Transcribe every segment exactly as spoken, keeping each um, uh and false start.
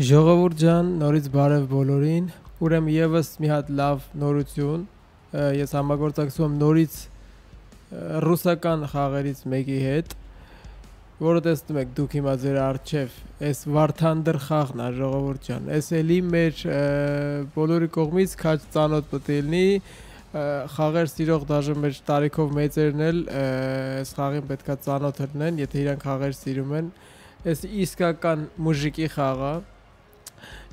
Ժողովուրդ ջան, նորից բարև բոլորին։ Ուրեմն եւս մի հատ լավ նորություն։ Ես համագործակցում եմ նորից ռուսական խաղերից մեկի հետ, որը տեսնում եք դուք հիմա ձեր առջև, այս Վարդանդր խաղն է, ժողովուրդ ջան։ Այս էլի մեր բոլորի կողմից քաչ ծանոթ պետք է լինի, խաղեր սիրող դաժե մեր տարիքով մեծերն էլ այս խաղին պետքա ծանոթ լինեն, եթե իրանք խաղեր սիրում են։ Այս իսկական մուժիկի խաղ է։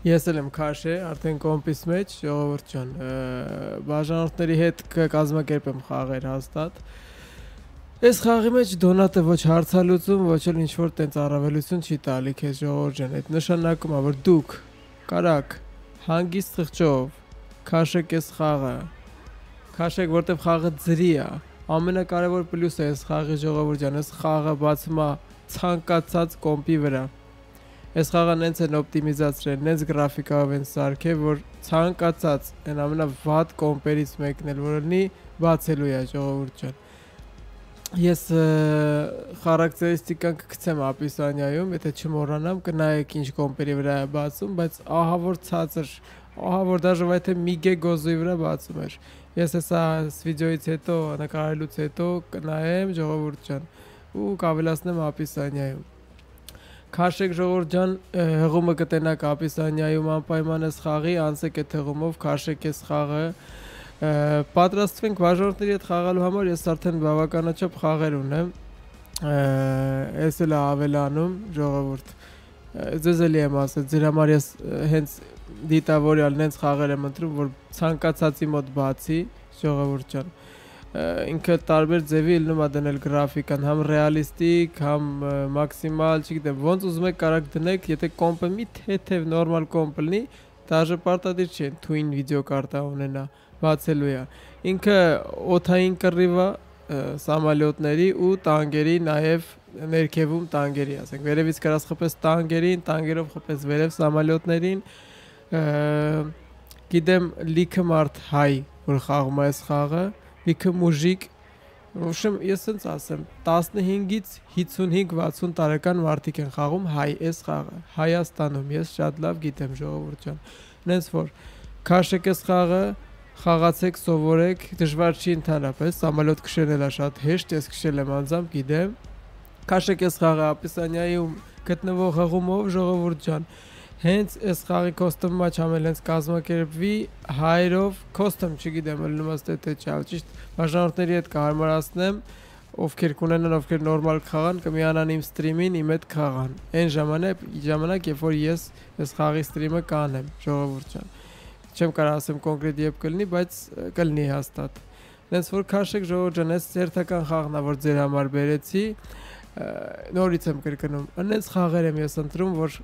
Ես էլ եմ քաշե, արդեն կոմպիս մեջ, ժողովուրդ ջան, բաժանորդների հետ կկազմակերպեմ խաղեր հաստատ։ Այս խաղի մեջ դոնատը ոչ հարցալուծում, ոչ էլ ինչ-որ տենց առավելություն չի տալի քեզ, ժողովուրդ ջան, այդ նշանակում է, որ դուք կարաք հանգիստ խղճով քաշեք այս խաղը, քաշեք, որտեղ խաղը ձրի է, ամենակարևոր պլյուսը այս խաղի, ժողովուրդ ջան, այս խաղը բացում է ցանկացած կոմպի վրա։ Այս խաղը նենց են օպտիմիզացրել, նենց գրաֆիկայով են սարքել, որ ցանկացած այն ամենավատ կոմպերից մեկն էլ որ լինի, բացելու է, ժողովուրդ ջան։ Ես խարակտերիստիկան կգցեմ ապիսանիայում, եթե չմոռանամ, կնայեք ինչ կոմպերի վրա է բացում, բայց ահա որ ցածր, ահա որ դաժե վայթե միգե գոզոյի վրա բացում էր։ Ես հեսա վիդեոից հետո, նկարելուց հետո կնայեմ, ժողովուրդ ջան, ու կավելացնեմ ապիսանիայում։ Քաշեք ժողովուրդ ջան, հղումը կտենաք ապիսանիայում անպայման այս խաղի, անցեք այդ հղումով, քաշեք այս խաղը։ Պատրաստվենք բաժանորդների հետ խաղալու համար, ես արդեն բավականաչափ խաղեր ունեմ։ Ես էլ ավելանում, ժողովուրդ։ Ձեզ էլի եմ ասել, ձեր համար ես հենց դիտավորյալ նենց խաղեր եմ ընտրում, որ ցանկացածի մոտ բացի, ժողովուրդ ջան։ Ինքը տարբեր ձևի ելնում է դնել գրաֆիկան, համ ռեալիստիկ, համ մաքսիմալ, չգիտեմ, ոնց ուզում եք կարաք դնեք, եթե կոմպը մի թեթև նորմալ կոմպ լինի, դաժե պարտադիր չի թույն վիդեոկարտա ունենա, բացելու է։ Ինքը օդային կռիվ է սամալյոտների ու տանկերի, նաև ներքևում տանկերի, ասենք, վերևից կարաս խփես տանկերին, տանկերով խփես վերև սամալյոտներին։ Գիտեմ լիքը մարդ հայ, որ խաղում է այս խաղը, լիքը մուժիկ, ուշեմ ես ինձ ասեմ, տասնհինգից հիսունհինգ վաթսուն տարեկան մարդիկ են խաղում հայ այս խաղը, Հայաստանում, ես շատ լավ գիտեմ, ժողովուրդ ջան, նենց որ քաշեք այս խաղը, խաղացեք, սովորեք, դժվար չի ընդհանրապես, սամալյոտ քշելն էլ է շատ հեշտ, ես քշել եմ անձամբ, գիտեմ, քաշեք այս խաղը ապիսանիայում գտնվող հղումով, ժողովուրդ ջան, հենց այս խաղի կոստոմը չամել հենց կազմակերպվի հայերով, կոստոմ չգիտեմ, ելնում աստ է թե չալ, ճիշտ բաժանորդների հետ կհարմարացնեմ, ովքեր կունենան, ովքեր նորմալ կխաղան, կմիանան իմ ստրիմին, իմ հետ կխաղան, այն ժամանակ, ժամանակ, երբ որ ես այս խաղի ստրիմը կանեմ, ժողովուրդ ջան, չեմ կարող ասեմ կոնկրետ երբ կլինի, բայց կլինի հաստատ, նենց որ քաշեք ժողովուրդ ջան, այս ծերտական խաղն է, որ ձեր համար բերեցի, նորից եմ կրկնում, նենց խաղեր եմ ես ընտրում, որ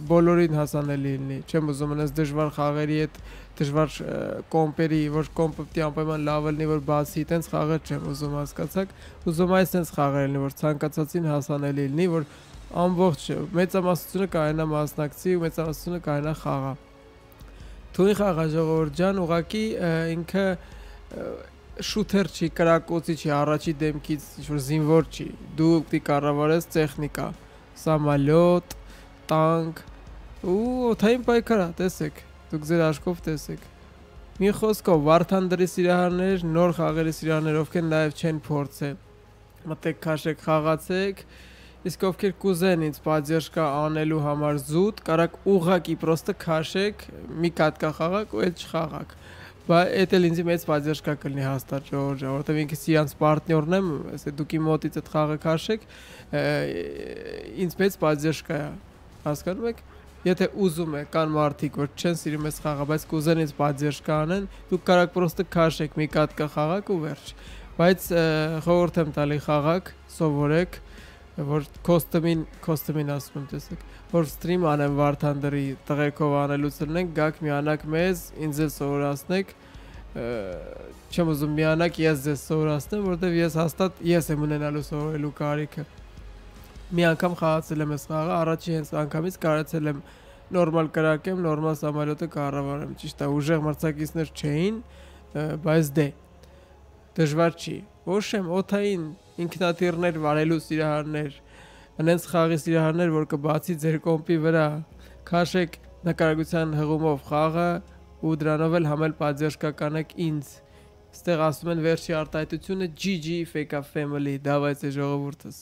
բոլորին հասանելի լինի, չեմ ուզում անես դժվար խաղերի հետ, դժվար կոմպերի, որ կոմպը պիտի անպայման լավ լինի, որ բացի, տենց խաղեր չեմ ուզում, հասկացաք, ուզում այս տենց խաղեր լինի, որ ցանկացածին հասանելի լինի, որ ամբողջ մեծամասնությունը կարողանա մասնակցի ու մեծամասնությունը կարողանա խաղա։ Թույն խաղա, ժողովուրդ ջան, ուղղակի ինքը շութեր չի, կրակոցի չի, առաջի դեմքից ինչ-որ զինվոր չի, դու պիտի կառավարես տեխնիկա, սամալյոտ, տանկ ու օդային պայքար, տեսեք, դուք ձեր աչքով տեսեք։ Մի խոսքով Վարդանդրի սիրահարներ, նոր խաղերի սիրահարներ, ովքեր նաև չեն փորձել, մտեք քաշեք, խաղացեք, իսկ ովքեր կուզեն ինձ պատժերշկա անելու համար զուտ, կարաք ուղղակի պրոստը քաշեք, մի կատկա խաղաք ու այդ չխաղաք։ Բայց այդ էլ ինձ մեծ պատժերշկա կլինի հաստատ, ժողովուրդ ջան, որովհետև ինքս իրանց պարտներն եմ, ասե դուք իմ մոտից այդ խաղը քաշեք, ինձ մեծ պատժերշկա է, հասկանում եք։ Եթե ուզում եք, կան մարդիկ, որ չեն սիրում այս խաղը, բայց կուզեն ինձ պատժերշկա անեն, դուք կարաք պրոստը քաշեք, մի կատկա խաղաք ու վերջ։ Բայց խորհուրդ եմ տալի խաղաք, սովորեք, որ կոստոմին, կոստոմին ասում եմ, տեսեք, որ ստրիմ անեմ Վարդանդրի տղերքով անելուց լինենք, գաք միանակ մեզ, ինձ էլ սովորացնեք, չեմ ուզում միանակ ես ձեզ սովորացնեմ, որտեվ ես հաստատ ես եմ ունենալու սովորելու կարիքը։ Մի անգամ խաղացել եմ այս խաղը, առաջի հենց անգամից կարեցել եմ նորմալ կրակեմ, նորմալ սամալյոտը կառավարեմ, ճիշտ է, ուժեղ մրցակիցներ չէին, բայց դե դժվար չի։ Ոչ եմ օդային ինքնաթիռներ վարելու սիրահարներ, այնց խաղի սիրահարներ, որ կբացի ձեր կոմպի վրա, քաշեք նկարագրության հղումով խաղը ու դրանով էլ համել պատժ կկանեք ինձ։ Ստեղ ասում են վերջի արտահայտությունը G G Fake Family, դավայց է ժողովուրդս։